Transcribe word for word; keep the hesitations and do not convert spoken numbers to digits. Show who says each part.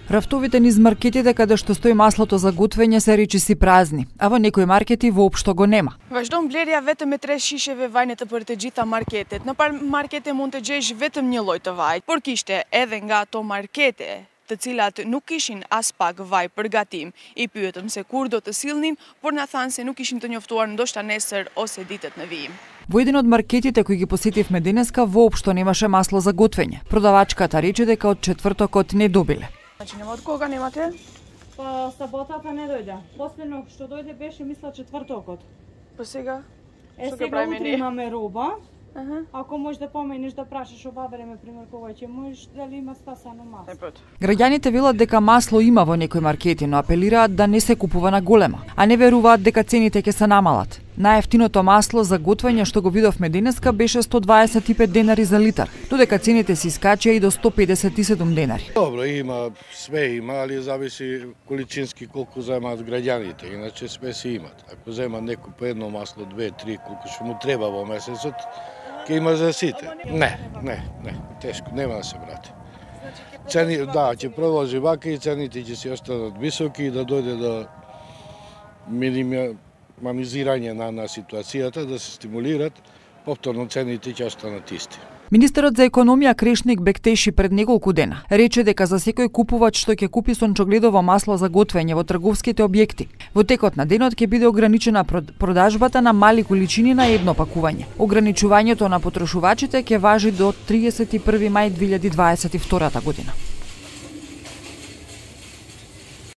Speaker 1: Рафтовите низ маркетите каде што стои маслото за готвење се речиси празни, а во некои маркети воопшто го нема.
Speaker 2: Vazhdo mbledhja vetëm me tre shisheve vaj në të për të gjitha marketet. Në par markete mund të gjesh vetëm një lloj të vaj, por kishte edhe nga ato markete të cilat nuk kishin as pak vaj për gatim. I pyetëm se kur do të sillnin, por na thanë se nuk ishin të njoftuar ndoshta nesër ose ditët në vijim.
Speaker 1: Во еден од маркетите кои ги посетивме денеска воопшто немаше масло за готвење. Продавачката рече дека од четвртокот не добиле.
Speaker 2: Значи нема од кога немате?
Speaker 3: Па саботата не дојде. Последно што дојде беше мисла четвртокот.
Speaker 2: Па сега?
Speaker 3: Е,
Speaker 2: Што
Speaker 3: сега утре имаме роба.
Speaker 2: Аха.
Speaker 3: Ако можеш да поменеш да прашаш ова време пример кога ќе можеш дали има стасано масло.
Speaker 1: Граѓаните велат дека масло има во некои маркети, но апелираат да не се купува на голема, а не веруваат дека цените ќе се намалат. Најефтиното масло за готвење што го видовме денеска беше сто дваесет и пет денари за литар, додека цените се искачија и до сто педесет и седум денари.
Speaker 4: Добро, има, све има, али зависи количински колку земаат граѓаните, иначе све си имат. Ако зема некој по едно масло, две, три, колку што му треба во месецот, ќе има за сите. Не, не, не, тешко, нема да се врати. Цени, да, ќе продолжи вака и цените ќе се останат високи и да дојде до минимизирање на, на ситуацијата, да се стимулират, повторно цените ќе останат исти.
Speaker 1: Министерот за економија Крешник Бектеши пред неколку дена рече дека за секој купувач што ќе купи сончогледово масло за готвење во трговските објекти, во текот на денот ќе биде ограничена продажбата на мали количини на едно пакување. Ограничувањето на потрошувачите ќе важи до триесет и први мај две илјади дваесет и втора година.